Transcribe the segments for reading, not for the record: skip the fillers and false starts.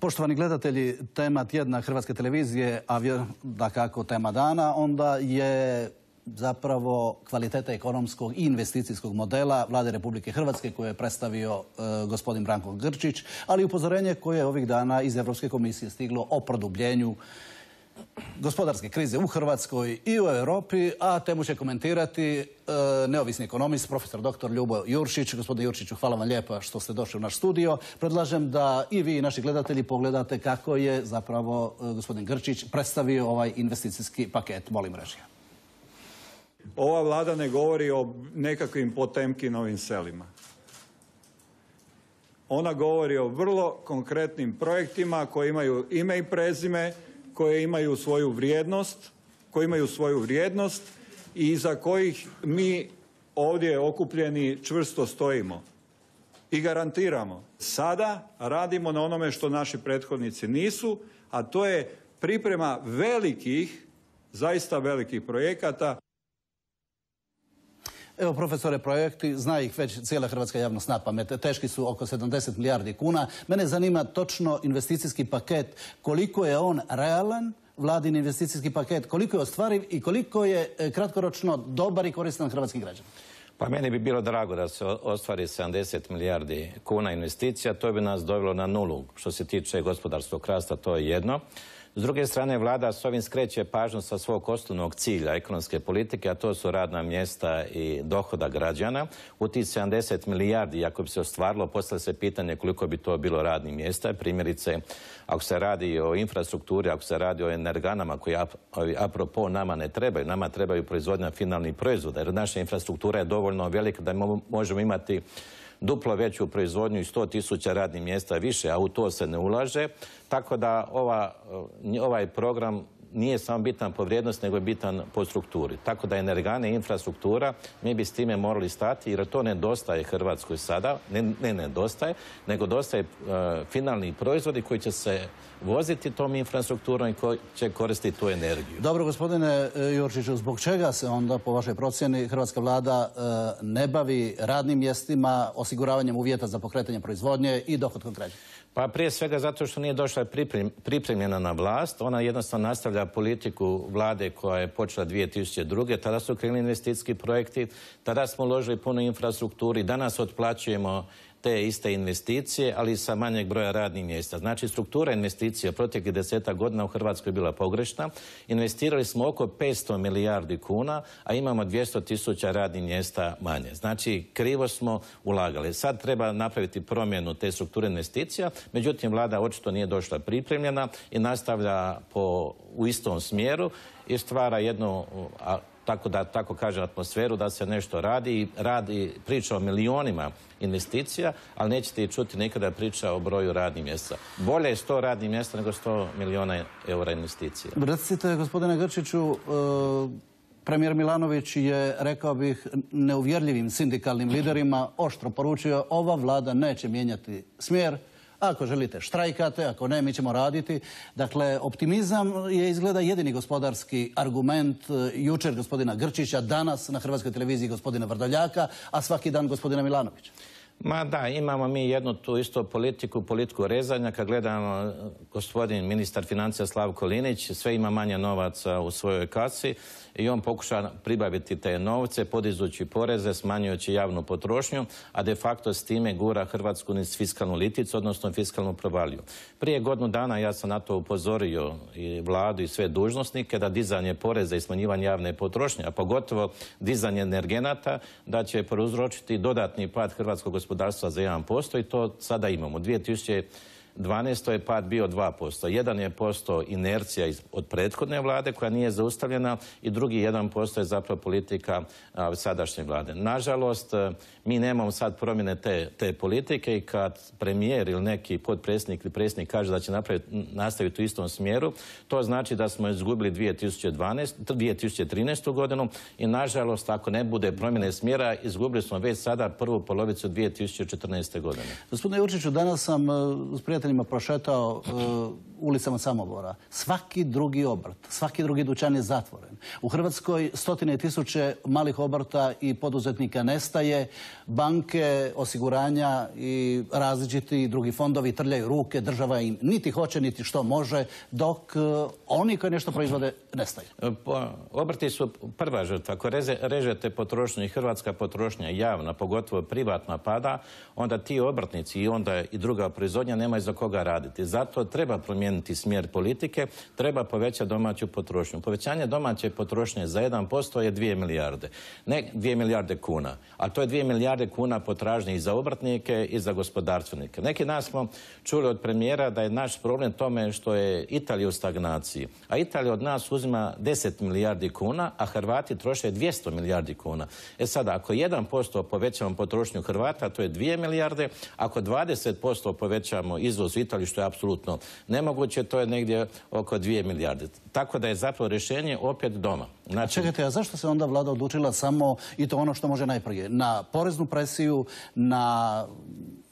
Poštovani gledatelji, tema tjedna Hrvatske televizije, a dakako tema dana, onda je zapravo kvaliteta ekonomskog i investicijskog modela Vlade Republike Hrvatske koje je predstavio gospodin Branko Grčić, ali i upozorenje koje je ovih dana iz Europske komisije stiglo o produbljenju gospodarske krize u Hrvatskoj i u Europi, a temu će komentirati neovisni ekonomist, profesor dr. Ljubo Juršić. Gospodine Juršiću, hvala vam lijepa što ste došli u naš studio. Predlažem da i vi i naši gledatelji pogledate kako je zapravo gospodin Grčić predstavio ovaj investicijski paket. Molim režija. Ova vlada ne govori o nekakvim Potemkinovim selima. Ona govori o vrlo konkretnim projektima koji imaju ime i prezime, koje imaju svoju vrijednost, i iza kojih mi ovdje okupljeni čvrsto stojimo i garantiramo. Sada radimo na onome što naši prethodnici nisu, a to je priprema velikih, zaista velikih projekata. Evo, profesore, projekti, zna ih već cijela hrvatska javnost na pamet. Teški su oko 70 milijardi kuna. Mene zanima točno investicijski paket, koliko je on realan, vladin investicijski paket, koliko je ostvariv i koliko je kratkoročno dobar i koristan hrvatskim građanima. Pa meni bi bilo drago da se ostvari 70 milijardi kuna investicija. To bi nas dovelo na nulu što se tiče gospodarskog rasta, to je jedno. S druge strane, vlada s ovim skreće pažnju sa svog osnovnog cilja ekonomske politike, a to su radna mjesta i dohodak građana. U tih 70 milijardi, ako bi se ostvarilo, postavlja se pitanje koliko bi to bilo radnih mjesta. Primjerice, ako se radi o infrastrukturi, ako se radi o energanama koji apropo nama ne trebaju, nama trebaju proizvodnja finalnih proizvoda, jer naša infrastruktura je dovoljno velika da možemo imati duplo veću proizvodnju i 100.000 radnih mjesta više, a u to se ne ulaže. Tako da ovaj program nije samo bitan po vrijednosti, nego je bitan po strukturi. Tako da energane i infrastruktura, mi bi s time morali stati, jer to nedostaje Hrvatskoj sada. Ne nedostaje, nego dostaje finalni proizvodi koji će se voziti tom infrastrukturom i koji će koristiti tu energiju. Dobro, gospodine Jurčiću, zbog čega se onda, po vašoj procjeni, hrvatska vlada ne bavi radnim mjestima, osiguravanjem uvjeta za pokretanje proizvodnje i dohotkom građana? Pa prije svega zato što nije došla pripremljena na vlast. Ona jednostavno nastavlja politiku vlade koja je počela 2002. Tada su krenuli investicijski projekti, tada smo uložili puno infrastrukturi, danas otplaćujemo te iste investicije, ali sa manjeg broja radnih mjesta. Znači, struktura investicija proteklih 10 godina u Hrvatskoj je bila pogrešna. Investirali smo oko 500 milijardi kuna, a imamo 200.000 radnih mjesta manje. Znači, krivo smo ulagali. Sad treba napraviti promjenu te strukture investicija, međutim, vlada očito nije došla pripremljena i nastavlja u istom smjeru i stvara jednu, tako kaže, atmosferu da se nešto radi, priča o milionima investicija, ali nećete i čuti nikada priča o broju radnih mjesta. Bolje je 100 radnih mjesta nego 100 milijuna eura investicija. Recite, gospodine Grčiću, premijer Milanović je, rekao bih, neuvjerljivim sindikalnim liderima oštro poručio: ova vlada neće mijenjati smjer. Ako želite, štrajkate, ako ne, mi ćemo raditi. Dakle, optimizam je izgleda jedini gospodarski argument jučer gospodina Grčića, danas na Hrvatskoj televiziji gospodina Vrdoljaka, a svaki dan gospodina Milanovića. Ma da, imamo mi jednu tu isto politiku rezanja. Kad gledamo gospodin ministar financija Slavko Linić, sve ima manje novaca u svojoj kasi i on pokuša pribaviti te novce, podizući poreze, smanjujući javnu potrošnju, a de facto s time gura Hrvatsku niz fiskalnu liticu, odnosno fiskalnu provaliju. Prije godinu dana ja sam na to upozorio i vladu i sve dužnosnike da dizanje poreza i smanjivanje javne potrošnje, a pogotovo dizanje energenata, da će prouzročiti dodatni pad hrvatskog gospodarstva za 1% i to sada imamo. 2012. je pad bio 2%. 1% inercija od prethodne vlade koja nije zaustavljena i drugi 1% je zapravo politika sadašnje vlade. Nažalost, mi nemamo sad promjene te politike i kad premijer ili neki potpredsjednik ili predsjednik kaže da će nastaviti u istom smjeru, to znači da smo izgubili 2013. godinu i nažalost, ako ne bude promjene smjera, izgubili smo već sada prvu polovicu 2014. godine. Gospodine Jurčiću, danas sam uz prijatelja prijateljima prošetao ulicama Samobora. Svaki drugi obrt, svaki drugi dućan je zatvoren. U Hrvatskoj stotine tisuće malih obrta i poduzetnika nestaje. Banke, osiguranja i različiti drugi fondovi trljaju ruke. Država im niti hoće, niti što može, dok oni koji nešto proizvode nestaju. Obrti su prva žrtva. Ako režete potrošnju i hrvatska potrošnja javna, pogotovo privatna pada, onda ti obrtnici i onda i druga proizvodnja nemaju za koga raditi. Zato treba promijeniti smjer politike, treba povećati domaću potrošnju. Povećanje domaće potrošnje za 1% je 2 milijarde. Ne 2 milijarde kuna, a to je 2 milijarde kuna potražnje i za obrtnike i za gospodarstvenike. Neki dan smo čuli od premijera da je naš problem tome što je Italija u stagnaciji. A Italija od nas uzima 10 milijardi kuna, a Hrvati troše 200 milijardi kuna. Sada, ako 1% povećamo potrošnju Hrvata, to je 2 milijarde. Ako 20% povećamo izvoz u Italiju, što je apsolutno nemoguće, to je negdje oko 2 milijarde. Tako da je zapravo rješenje opet doma. Znači... Čekajte, a zašto se onda vlada odlučila samo, i to ono što može najprije, na poreznu presiju, na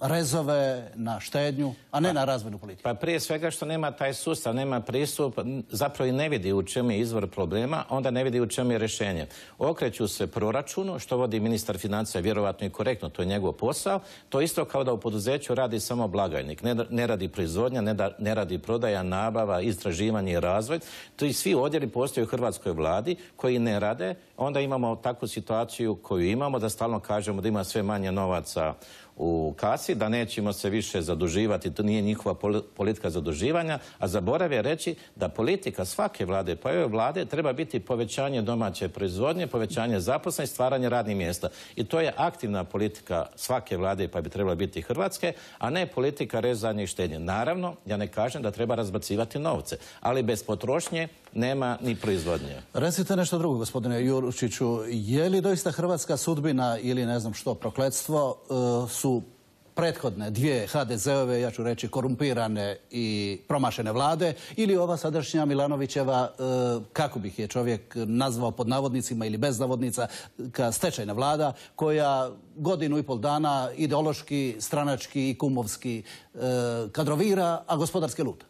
rezove, na štednju, a ne na razvojnu politiku? Pa prije svega što nema taj sustav, nema pristup, zapravo i ne vidi u čemu je izvor problema, onda ne vidi u čemu je rješenje. Okreću se proračunu, što vodi ministar financija, vjerovatno i korektno, to je njegov posao. To isto kao da u poduzeću radi samo blagajnik. Ne radi proizvodnja, ne radi prodaja, nabava, istraživanje i razvoj. To i svi odjeli postoje u hrvatskoj vladi koji ne rade. Onda imamo takvu situaciju koju imamo, da stalno kažemo da ima sve manje novaca u kasi, da nećemo se više zaduživati, to nije njihova politika zaduživanja, a zaborave reći da politika svake vlade, pa i ove vlade, treba biti povećanje domaće proizvodnje, povećanje zaposlenosti, stvaranje radnih mjesta. I to je aktivna politika svake vlade, pa bi trebala biti Hrvatske, a ne politika rezanja i štednje. Naravno, ja ne kažem da treba razbacivati novce, ali bez potrošnje nema ni proizvodnje. Recite nešto drugo, gospodine Jurčiću. Je li doista hrvatska sudbina ili ne znam što, prokletstvo, su prethodne dvije HDZ-ove, ja ću reći, korumpirane i promašene vlade, ili ova sadašnja Milanovićeva, kako bih je čovjek nazvao pod navodnicima ili bez navodnica, stečajna vlada, koja godinu i pol dana ideološki, stranački i kumovski kadrovira, a gospodarski luta?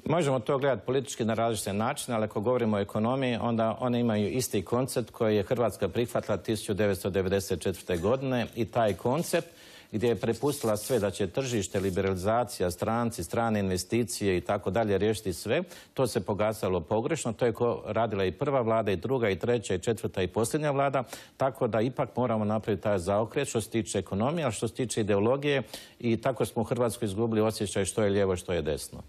Možemo to gledati politički na različite načine, ali ako govorimo o ekonomiji, onda one imaju isti koncept koji je Hrvatska prihvatila 1994. godine i taj koncept gdje je prepustila sve da će tržište, liberalizacija, stranci, strane investicije i tako dalje riješiti sve. To se pokazalo pogrešno. To je radila i prva vlada, i druga, i treća, i četvrta, i posljednja vlada. Tako da ipak moramo napraviti taj zaokret što se tiče ekonomije, a što se tiče ideologije. I tako smo u Hrvatskoj izgubili osjećaj što je lijevo, što je desno.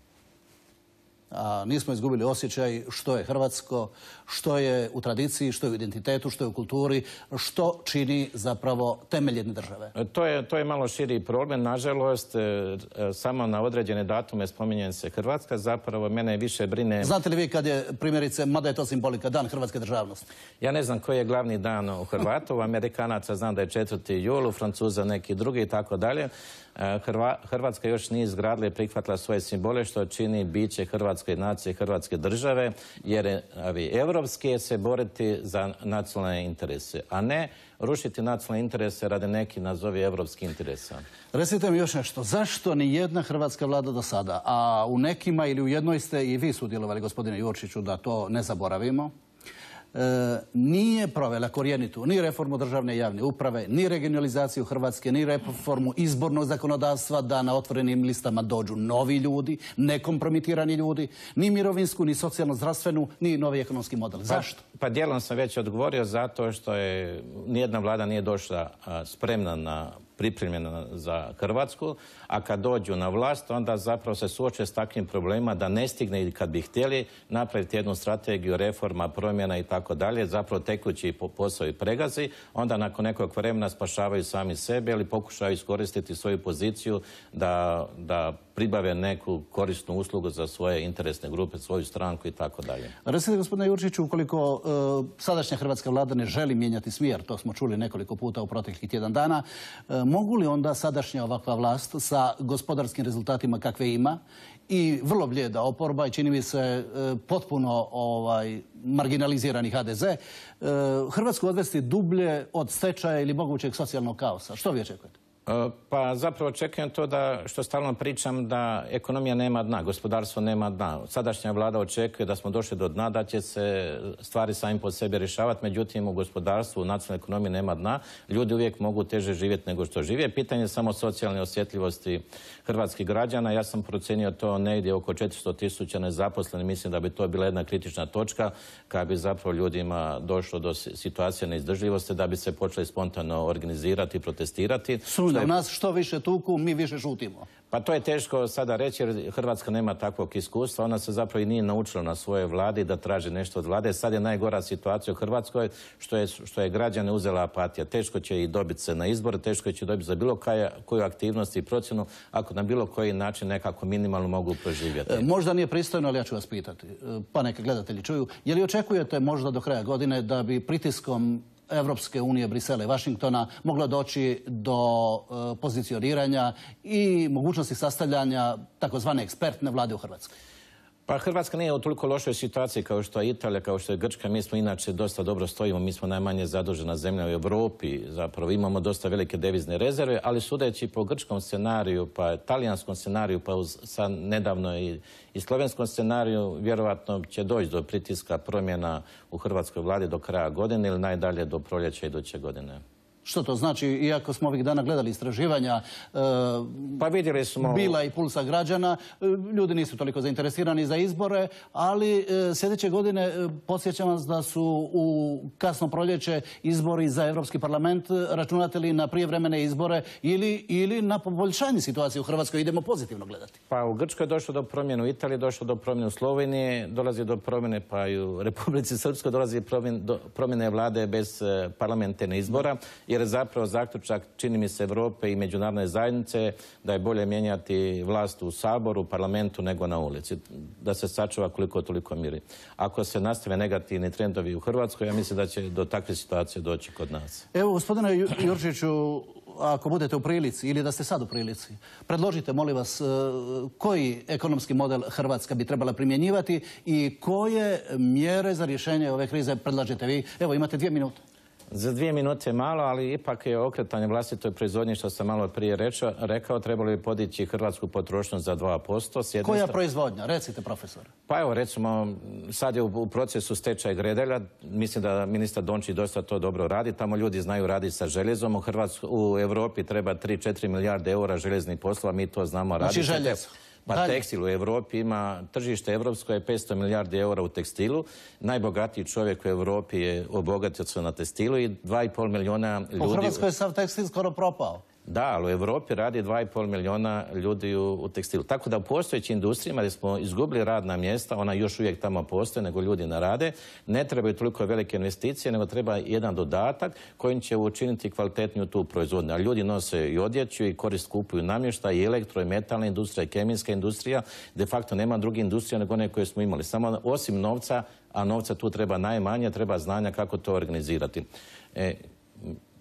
A nismo izgubili osjećaj što je hrvatsko, što je u tradiciji, što je u identitetu, što je u kulturi, što čini zapravo temelj jedne države. To je malo širi problem. Nažalost, samo na određene datume spominje se Hrvatska. Zapravo, mene više brine... Znate li vi kad je, primjerice, mada je to simbolika, dan hrvatske državnosti? Ja ne znam koji je glavni dan u Hrvatu. U Amerikanaca znam da je 4. jul, u Francuza neki drugi i tako dalje. Hrvatska još nije izgradila i prihvatila svoje simbole, što čini biće hrvatske nacije, hrvatske države, jer evropski je se boriti za nacionalne interese, a ne rušiti nacionalne interese radi neki nazovi evropskih interesa. Recite mi još nešto. Zašto ni jedna hrvatska vlada do sada, a u nekima ili u jednoj ste i vi sudjelovali, gospodine Jurčiću, da to ne zaboravimo, nije provela korjenitu ni reformu državne i javne uprave, ni regionalizaciju Hrvatske, ni reformu izbornog zakonodavstva, da na otvorenim listama dođu novi ljudi, nekompromitirani ljudi, ni mirovinsku, ni socijalno-zdravstvenu, ni novi ekonomski model. Zašto? Pa dijelom sam već odgovorio zato što je nijedna vlada nije došla spremna pripremljena za Hrvatsku, a kad dođu na vlast, onda zapravo se suoče s takvim problemima da ne stigne i kad bi htjeli napraviti jednu strategiju reforma, promjena i tako dalje, zapravo tekući posao i pregazi, onda nakon nekog vremena spašavaju sami sebe ili pokušaju iskoristiti svoju poziciju da pribave neku korisnu uslugu za svoje interesne grupe, svoju stranku i tako dalje. Recite, gospodine Jurčiću, ukoliko sadašnja hrvatska vlada ne želi mijenjati smjer, to smo čuli nekoliko puta u proteklih tjedan dana, mogu li onda sadašnja ovakva vlast sa gospodarskim rezultatima kakve ima i vrlo blijeda oporba i čini mi se potpuno marginalizirani HDZ, Hrvatsku odvesti dublje od stečaja ili mogućeg socijalnog kaosa? Što vi očekujete? Pa zapravo očekujem to da, što stalno pričam, da ekonomija nema dna, gospodarstvo nema dna. Sadašnja vlada očekuje da smo došli do dna, da će se stvari sami po sebi rješavati, međutim u gospodarstvu, u nacionalnoj ekonomiji nema dna. Ljudi uvijek mogu teže živjeti nego što žive. Pitanje je samo socijalne osjetljivosti hrvatskih građana. Ja sam procijenio to negdje oko 400.000 nezaposlenih. Mislim da bi to bila jedna kritična točka kada bi zapravo ljudima došlo do situacije neizdržljivosti, da bi se počeli spontano organizirati i protestirati. U nas što više tuku, mi više šutimo. Pa to je teško sada reći jer Hrvatska nema takvog iskustva. Ona se zapravo i nije naučila na svojoj vladi da traži nešto od vlade. Sad je najgora situacija u Hrvatskoj što je građane uzela apatija. Teško će i dobiti se na izbore, teško će dobiti za bilo koju aktivnost i procjenu ako na bilo koji način nekako minimalno mogu proživjeti. Možda nije pristojno, ali ja ću vas pitati, pa neka gledatelji čuju. Je li očekujete možda do kraja godine da bi pritiskom Evropske unije, Brisela i Vašingtona moglo doći do pozicioniranja i mogućnosti sastavljanja takozvane ekspertne vlade u Hrvatskoj? Pa Hrvatska nije u toliko lošoj situaciji kao što je Italija, kao što je Grčka. Mi smo inače dosta dobro stojimo, mi smo najmanje zadužena zemlja u Europi. Zapravo imamo dosta velike devizne rezerve, ali sudeći po grčkom scenariju, pa talijanskom scenariju, pa sad nedavno i slovenskom scenariju, vjerovatno će doći do pritiska promjena u hrvatskoj vladi do kraja godine ili najdalje do proljeća iduće godine. Što to znači, iako smo ovih dana gledali istraživanja pa vidjeli smo Bila i Pulsa građana, ljudi nisu toliko zainteresirani za izbore, ali sljedeće godine podsjećam vas da su u kasno proljeće izbori za Europski parlament. Računate li na prijevremene izbore ili na poboljšanje situacije u Hrvatskoj? Idemo pozitivno gledati. Pa u Grčkoj je došlo do promjene, u Italiji je došlo do promjene, u Sloveniji dolazi do promjene, pa i u Republici Srpskoj dolazi do promjene vlade bez parlamentarnih izbora. Jer je zapravo zaključak, čini mi se, Europe i međunarodne zajednice da je bolje mijenjati vlast u Saboru, parlamentu nego na ulici. Da se sačuva koliko toliko miri. Ako se nastave negativni trendovi u Hrvatskoj, ja mislim da će do takve situacije doći kod nas. Evo, gospodine Jurčiću, ako budete u prilici ili da ste sad u prilici, predložite, molim vas, koji ekonomski model Hrvatska bi trebala primjenjivati i koje mjere za rješenje ove krize predlažete vi. Evo, imate 2 minute. Za 2 minute je malo, ali ipak je okretanje vlastitoj proizvodnji, što sam malo prije rekao, trebalo bi podići hrvatsku potrošnju za 2%. Koja proizvodnja? Recite, profesor. Pa evo, recimo, sad je u procesu stečaj Gredelja. Mislim da ministar Dončić dosta to dobro radi. Tamo ljudi znaju raditi sa željezom. U Europi treba 3-4 milijarde eura željeznih poslova. Mi to znamo raditi. Znači željezo. Pa tekstil u Europi ima, tržište evropsko je 500 milijardi eura u tekstilu. Najbogatiji čovjek u Europi je obogatio se na tekstilu i 2,5 milijuna ljudi... U Hrvatskoj je sav tekstil skoro propao. Da, ali u Europi radi 2,5 milijuna ljudi u tekstilu. Tako da u postojećim industrijama gdje smo izgubili radna mjesta, ona još uvijek tamo postoje, nego ljudi ne rade, ne trebaju toliko velike investicije, nego treba jedan dodatak kojim će učiniti kvalitetniju tu proizvodnju. A ljudi nose i odjeću i korist kupuju namještaj, i elektro, i metalna industrija, i kemijska industrija. De facto nema druge industrije nego one koje smo imali. Samo osim novca, a novca tu treba najmanje, treba znanja kako to organizirati.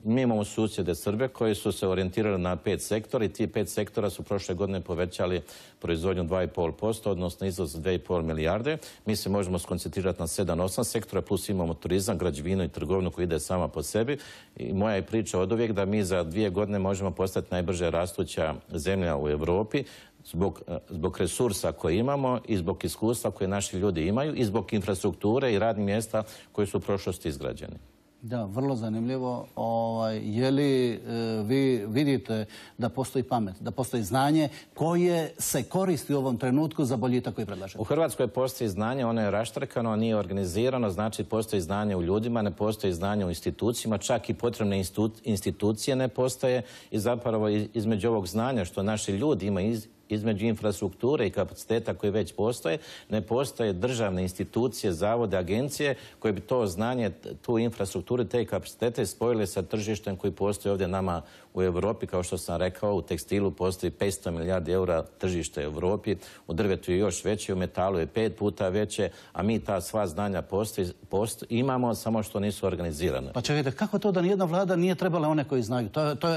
Mi imamo susjede Srbe koji su se orijentirali na 5 sektora i ti 5 sektora su prošle godine povećali proizvodnju 2,5%, odnosno izvoz 2,5 milijarde. Mi se možemo skoncentrirati na 7-8 sektora, plus imamo turizam, građevinu i trgovinu koji ide sama po sebi. I moja je priča od uvijek da mi za 2 godine možemo postati najbrže rastuća zemlja u Europi zbog resursa koje imamo i zbog iskustva koje naši ljudi imaju i zbog infrastrukture i radnih mjesta koji su u prošlosti izgrađeni. Da, vrlo zanimljivo. Je li vi vidite da postoji pamet, da postoji znanje koje se koristi u ovom trenutku za boljitak koji predlažete? U Hrvatskoj postoji znanje, ono je raštrkano, nije organizirano, znači postoji znanje u ljudima, ne postoji znanje u institucijama, čak i potrebne institucije ne postoje i zapravo između ovog znanja što naši ljudi imaju između infrastrukture i kapaciteta koji već postoje, ne postoje državne institucije, zavode, agencije koje bi to znanje, tu infrastrukturu, te kapacitete spojile sa tržištem koji postoji ovdje nama u Europi. Kao što sam rekao, u tekstilu postoji 500 milijardi eura tržište u Europi, u drvetu je još veće, u metalu je 5 puta veće, a mi ta sva znanja imamo, samo što nisu organizirane. Pa čekajte, kako to da nijedna vlada nije trebala one koji znaju?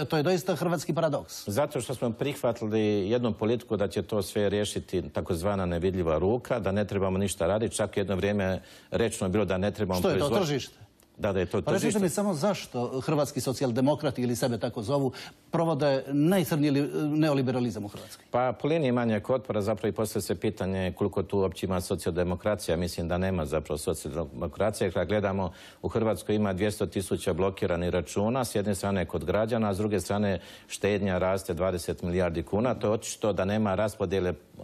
To je doista hrvatski paradoks. Zato što smo prihvatili jednu politiku da će to sve riješiti takozvana nevidljiva ruka, da ne trebamo ništa raditi. Čak jedno vrijeme rečeno bilo da ne trebamo proizvoditi. Što je to tržište? da je to tržište. Pa recite mi samo zašto hrvatski socijaldemokrati, ili sebe tako zovu, provode najcrnji neoliberalizam u Hrvatskoj? Pa po liniji manjeg otpora zapravo i postavlja se pitanje koliko tu uopće ima socijaldemokracija. Mislim da nema zapravo socijaldemokracije. Kad gledamo, u Hrvatskoj ima 200.000 blokiranih računa, s jedne strane kod građana, a s druge strane štednja raste 20 milijardi kuna. To je očito da nema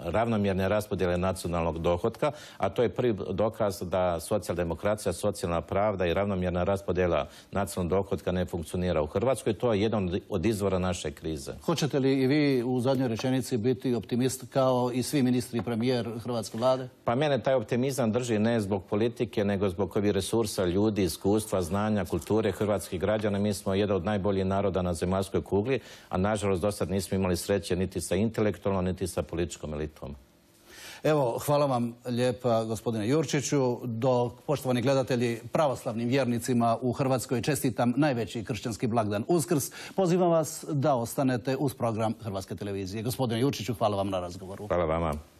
ravnomjerne raspodjele nacionalnog dohotka, a to je prvi dokaz da socijaldemokracija, socijalna pravda i ravnomjerna raspodjela nacionalnog dohotka ne funkcionira u Hrvatskoj. To je jedan od izvora naše krize. Hoćete li i vi u zadnjoj rečenici biti optimist kao i svi ministri i premijer hrvatske vlade? Pa mene taj optimizam drži ne zbog politike, nego zbog ovih resursa, ljudi, iskustva, znanja, kulture hrvatskih građana. Mi smo jedan od najboljih naroda na zemaljskoj kugli, a nažalost do sad nismo imali sreće niti sa intelektualnom, niti sa političkom elitom. Evo, hvala vam lijepa, gospodine Jurčiću. Dok, poštovani gledatelji, pravoslavnim vjernicima u Hrvatskoj čestitam najveći kršćanski blagdan Uskrs, pozivam vas da ostanete uz program Hrvatske televizije. Gospodine Jurčiću, hvala vam na razgovoru. Hvala vama.